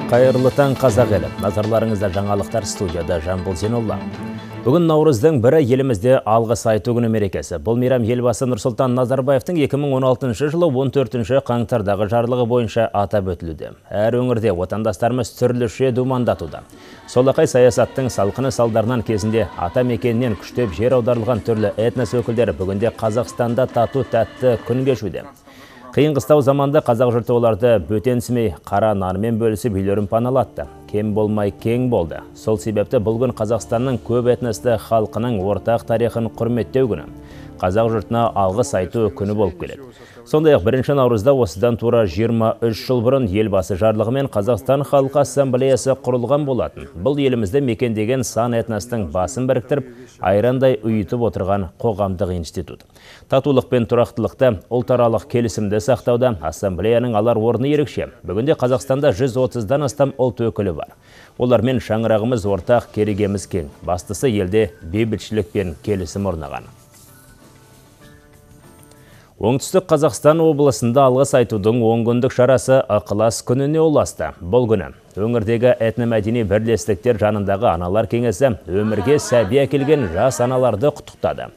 Қайырлы таң қазақ елі. Назарларыңызда жаңалықтар, студияда Жамбыл Зейнолла. Бүгін Наурыздың бірі елімізде алғыс айту күні мерекесі. Бұл мейрам елбасы Нұрсұлтан Назарбаевтың 2016 жылы 14 қаңтардағы жарлығы бойынша атап өтілуде. Әр өңірде отандастарымыз түрліше думандатуда. Солақай саясаттың салқыны салдарынан кезінде ата мекенінен күштеп жер аударылған түрлі этнос өкілдері бүгінде Қазақстанда тату тәтті күн кешуде. Қиын қыстау заманда қазақ жұрты оларды бөтенсімей қара нармен бөлісіп үйлерін паналатты. Кем болмай кең болды. Сол себепті бұл күн Қазақстанның көп этносты халқының ортақ тарихын құрметтеу күні. Қазақ жұртына алғыс айту күні болып келеді. Сондай-ақ 1 наурызда осыдан тура 23 жыл бұрын елбасы жарлығымен Қазақстан халқы ассамблеясы құрылған болатын. Бұл елімізді мекендеген сан этностың басын біріктіріп, айрандай ұйытып отырған қоғамдық институт. Татулық пен тұрақтылықты, ұлтаралық келісімді сақтауда ассамблеяның алар орны ерекше. Бүгінде Қазақстанда 130-дан астам ұлт өкілі бар. Олармен шаңырағымыз ортақ, керегеміз кең. Бастысы елде бейбітшілік пен келісім орнаған. Оңтүстік Қазақстан облысында алғыс айтудың 10 күндік шарасы ықылас күніне ұласты. Бұл күні өңірдегі этномәдени бірлестіктер жанындағы аналар кеңесі өмірге сәби әкелген жас аналарды құттықтады.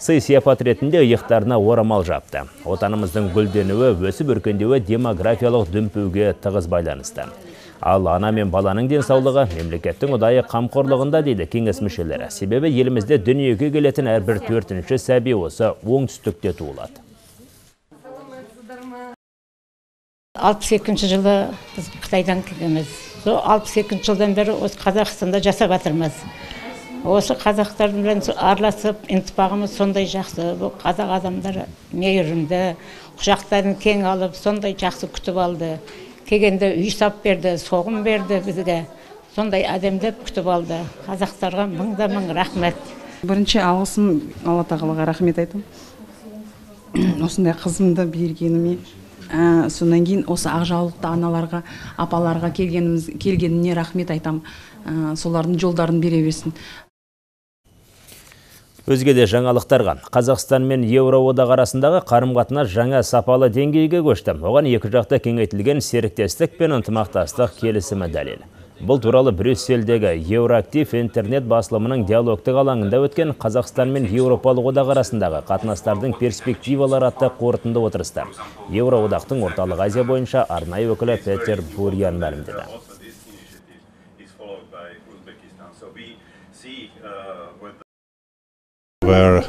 Сый-сияпат ретінде иықтарына орамал жапты. Отанымыздың гүлденуі, өсіп өркендеуі демографиялық дүмпуге тығыз байланысты. Ал ана мен баланың денсаулығы мемлекеттің ұдайы қамқорлығында дейді кеңес мүшелері. Себебі елімізде дүниеге келетін әрбір 4-ші сәби осы оңтүстікте туылады. 62 жылы біз Қытайдан келгенбіз. Сол 62 жылдан бері осы Қазақстанда жасап жатырмыз. Осы қазақтармен араласып, интипағымыз сондай жақсы. Бұл қазақ адамдары мейірімді, құшақтарын кең алып, сондай жақсы күтіп алды. Келгенде үй сап берді, соғым берді бізге. Сондай әдемдеп күтіп алды. Қазақтарға мың рахмет. Бірінші алғысым Алла тағалаға рахмет айтам. Осындай қызымды бергеніме. Сонан кейін осы ақжаулықты аналарға, апаларға келгеніне рахмет айтам. Солардың жолдарын бере берсін. Өзге де жаңалықтарға. Қазақстан мен Еуроодақ арасындағы қарым-қатынас жаңа сапалы деңгейге көшті. Оған екі жақта кеңейтілген серіктестік пен ынтымақтастық келісімі дәлел. Бұл туралы Брюссельдегі Еуроактив интернет басылымының диалогтық алаңында өткен Қазақстан мен Еуропалық одақ арасындағы қатынастардың перспективалары атты қорытынды отырысты. Еуроодақтың орталық Азия бойынша арнайы өкілі Петер Бурян мәлімдеді.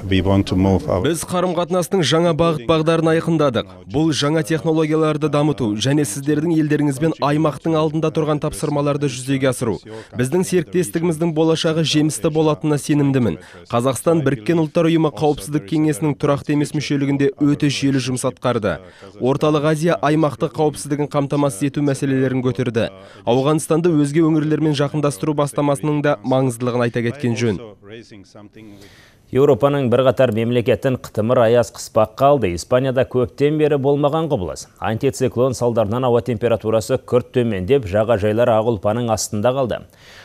Біз қарым-қатынастың жаңа бағыт-бағдарын айқындадық. Бұл жаңа технологияларды дамыту және сіздердің елдеріңізбен аймақтың алдында тұрған тапсырмаларды жүзеге асыру. Біздің серіктестігіміздің болашағы жемісті болатынына сенімдімін. Қазақстан Біріккен Ұлттар ұйымы қауіпсіздік кеңесінің тұрақты емес мүшелігінде өте жүйелі жұмыс атқарды. Орталық Азия аймақтық қауіпсіздігін қамтамасыз ету мәселелерін көтерді. Ауғанстанды өзге өңірлермен жақындастыру бастамасының да маңыздылығын айта кеткен жөн. Еуропаның бірқатар мемлекеттің қытымыр аяз қыспақ қалды. Испанияда көптен бері болмаған құбылыс. Антициклон салдарынан ауа температурасы күрт төмендеп, жағажайлар ақ ұлпаның астында қалды.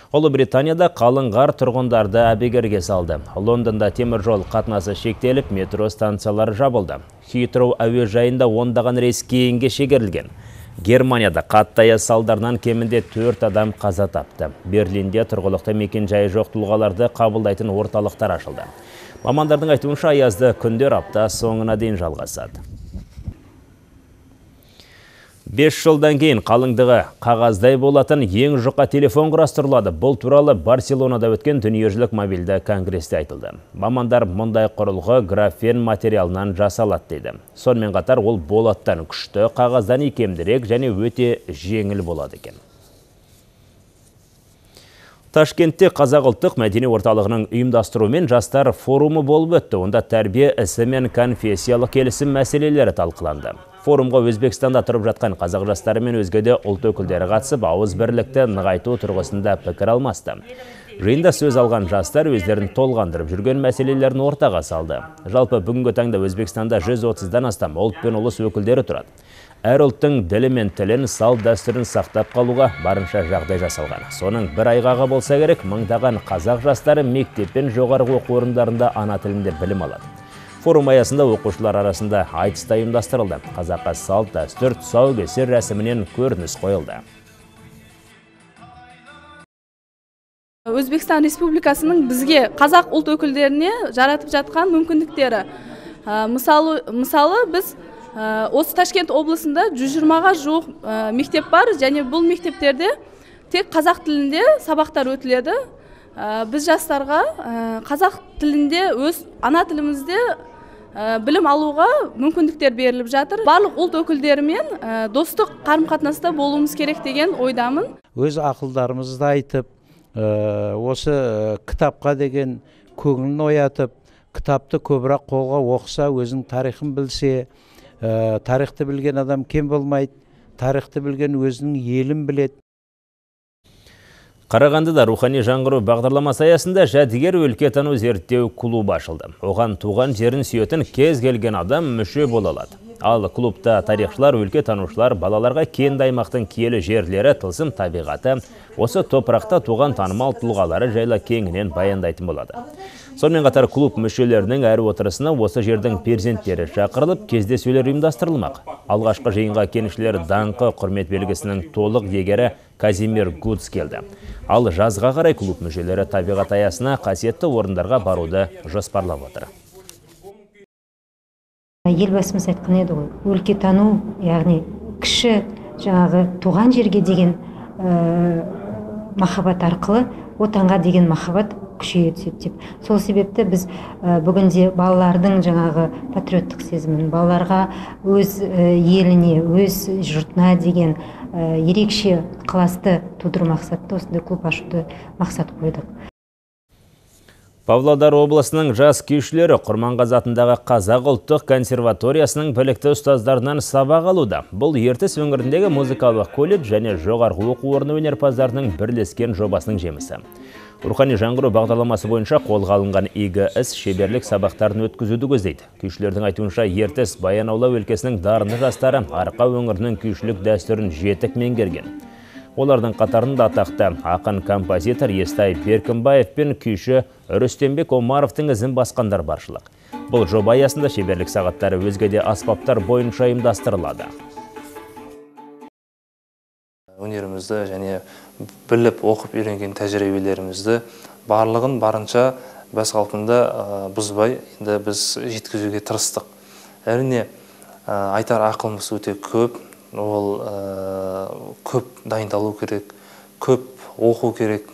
Ұлыбританияда қалың қар тұрғындарды әбігерге салды. Лондонда темір жол қатынасы шектеліп, метро станциялары жабылды. Хитроу әуежайында ондаған рейс кейінге шегерілген. Германияда қатты аяз салдарынан кемінде 4 адам қаза тапты. Берлинде тұрғылықты мекен жайы жоқ тұлғаларды қабылдайтын орталықтар ашылды. Мамандардың айтуынша аязды күндер апта соңына дейін жалғасады. 5 жылдан кейін қалыңдығы қағаздай болатын ең жұқа телефон құрастырылады. Бұл туралы Барселонада өткен дүниежүзілік мобильді конгресте айтылды. Мамандар мұндай құрылғы графен материалынан жасалады дейді. Сонымен қатар ол болаттан күшті, қағаздан икемдірек және өте жеңіл болады екен. Ташкентте Қазақ ұлттық мәдени орталығының ұйымдастыруымен жастар форумы болып өтті. Онда тәрбие ісі мен конфессиялық келісім мәселелері талқыланды. Форумға Өзбекстанда тұрып жатқан қазақ жастары мен өзге де ұлт өкілдері қатысып, ауыз бірлікті нығайту тұрғысында пікір алмасты. Жиында сөз алған жастар өздерін толғандырып жүрген мәселелерін ортаға салды. Жалпы бүгінгі таңда Өзбекстанда 130-дан астам ұлт пен ұлыс өкілдері тұрады. Әр ұлттың ділі мен тілін, салт дәстүрін сақтап қалуға барынша жағдай жасалған. Соның бір айғағы болса керек, мыңдаған қазақ жастары мектеп пен жоғарғы оқу орындарында ана тілінде білім алады. Форум аясында оқушылар арасында айтыс та ұйымдастырылды. Қазаққа салт дәстүр тұсаукесер рәсімінен көрініс қойылды. Өзбекстан Республикасының бізге қазақ ұлт өкілдеріне жаратып жатқан мүмкіндіктері. Мысалы біз осы Ташкент облысында 120-ға жуық мектеп бар, және бұл мектептерде тек қазақ тілінде сабақтар өтіледі. Біз жастарға қазақ тілінде өз ана тілімізде білім алуға мүмкіндіктер беріліп жатыр. Барлық ұлт өкілдерімен достық қарым-қатынаста болуымыз керек деген ойдамын. Өз ақылдарымызды айтып, осы кітапқа деген көңілін оятып, кітапты көбірек қолға оқыса, өзінің тарихын білсе, тарихты білген адам кем болмайды, тарихты білген өзінің елін біледі. Қарағандыда рухани жаңғыру бағдарламасы аясында жәдігер өлкетану зерттеу клубы ашылды. Оған туған жерін сүйетін кез келген адам мүше бола алады. Ал клубта тарихшылар, өлкетанушылар балаларға кенді аймақтың киелі жерлері, тылсым табиғаты, осы топырақта туған танымал тұлғалары жайлы кеңінен баяндайтын болады. Сонымен қатар клуб мүшелерінің әр отырысына осы жердің перзенттері шақырылып, кездесулер ұйымдастырылмақ. Алғашқы жиынға кеншілер даңқы құрмет белгісінің толық иегері Казимир Гудс келді. Ал жазға қарай клуб мүшелері табиғат аясына қасиетті орындарға баруды жоспарлап отыр. Елбасымыз айтқан еді ғой, өлкетану, яғни кіші жаңағы туған жерге деген махаббат арқылы отанға деген махаббат күшейе түседі деп. Сол себепті біз бүгінде балалардың жаңағы патриоттық сезімін, балаларға өз еліне, өз жұртына деген ерекше ықыласты тудыру мақсатта осындай клуб ашуды мақсат қойдық. Павлодар облысының жас күйшілері Құрманғазы атындағы Қазақ ұлттық консерваториясының білікті ұстаздарынан сабақ алуда. Бұл ертіс өңіріндегі музыкалық колледж және жоғарғы оқу орны өнерпаздарының бірлескен жобасының жемісі. Рухани жаңғыру бағдарламасы бойынша қолға алынған игі іс шеберлік сабақтарын өткізуді көздейді. Күйшілердің айтуынша ертіс Баянаула өлкесінің дарынды жастары Арқа өңірінің күйшілік дәстүрін жетік меңгерген. Олардың қатарында атақты ақын композитор Естай Беркімбаев пен күйші Рүстембек Омаровтың ізін басқандар баршылық. Бұл жоба аясында шеберлік сағаттары өзге де аспаптар бойынша ұйымдастырылады. Өнерімізді және біліп оқып үйренген тәжірибелерімізді барлығын барынша бас қалпында бұзбай енді біз жеткізуге тырыстық. Әрине айтар ақылымыз өте көп. Ол көп дайындалу керек, көп оқу керек,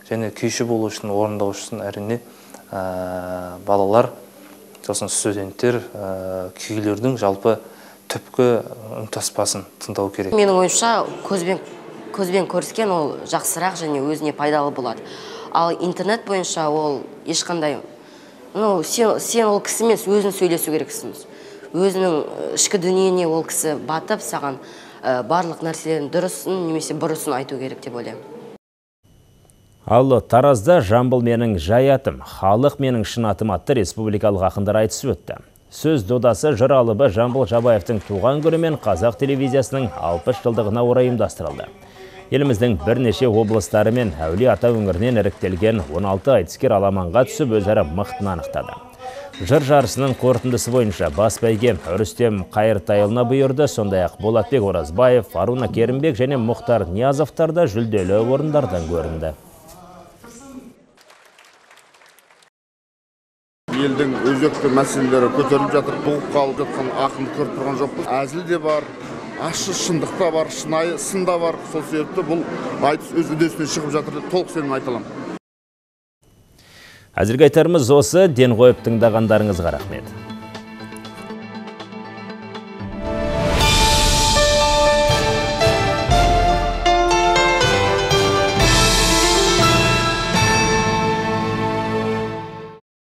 және күйші болу үшін, орындау үшін әрине балалар, сосын студенттер күйлердің жалпы түпкі үнтаспасын тыңдау керек. Менің ойымша көзбен көріскен ол жақсырақ және өзіне пайдалы болады. Ал интернет бойынша ол ешқандай, сен ол кісімен өзін сөйлесу керексің. Өзінің ішкі дүниене ол кісі батып, саған барлық нәрселерін дұрысын немесе бұрысын айту керек деп ойлаймын. Ал Таразда «Жамбыл менің жай атым, халық менің шын атым» атты республикалық ақындар айтысы өтті. Сөз додасы жыр алыбы Жамбыл Жабаевтың туған күні мен қазақ телевизиясының 60 жылдығына орай ұйымдастырылды. Еліміздің бірнеше облыстары мен Әулие Ата өңірінен іріктелген 16 айтыскер аламанға түсіп өзара мықтын анықтады. Жыр жарысының қорытындысы бойынша бас бәйге Рүстем Қайыртайұлына бұйырды, сондай-ақ Болатбек Оразбаев, Фаруна Керімбек және Мұхтар Ниязовтар да жүлделі орындардан көрінді. Елдің өзекті мәселелері көтеріліп жатыр, бұғып қалып жатқан ақын көріп тұрған жоқпыз. Әзіл де бар, ащы шындық та бар, шынайы сын да бар. Сол себепті бұл айтыс өз үдесіне шығып жатыр деп толық сенім айта аламын. Әзірге айтарымыз осы, ден қойып тыңдағандарыңызға рахмет.